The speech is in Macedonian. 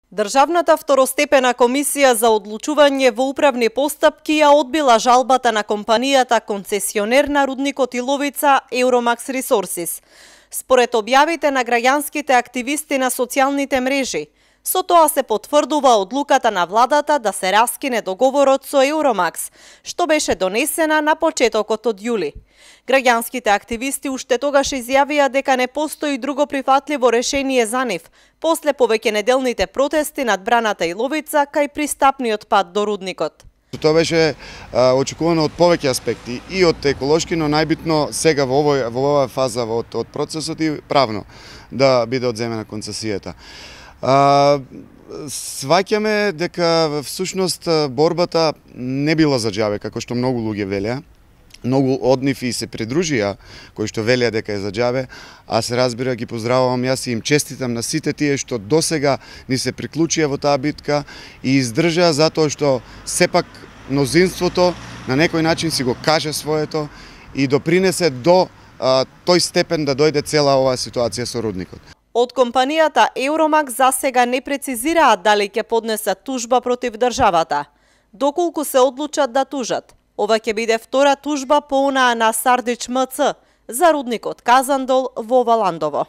Државната второстепена комисија за одлучување во управни постапки ја одбила жалбата на компанијата концесионер на рудникот Иловица Euromax Resources. Според објавите на граѓанските активисти на социјалните мрежи, со тоа се потврдува одлуката на владата да се раскине договорот со Euromax, што беше донесена на почетокот од јули. Граѓанските активисти уште тогаш изјавија дека не постои друго прифатливо решение за нив, после повеќенеделните протести над браната Иловица кај пристапниот пат до рудникот. Тоа беше очекувано од повеќе аспекти и од еколошки, но најбитно сега во оваа фаза од процесот и правно да биде одземена концесијата. Сваќаме дека всушност борбата не била за џабе, како што многу луѓе велеа. Многу од нив и се придружија кои што велеа дека е за џабе, а се разбира ги поздравувам јас и им честитам на сите тие што досега ни се приклучија во таа битка и издржаа затоа што сепак мнозинството на некој начин си го каже своето и допринесе до тој степен да дојде цела оваа ситуација со рудникот. Од компанијата Euromax засега не прецизираат дали ќе поднесат тужба против државата. Доколку се одлучат да тужат, ова ќе биде втора тужба по онаа на Сардич МЦ за рудникот Казандол во Валандово.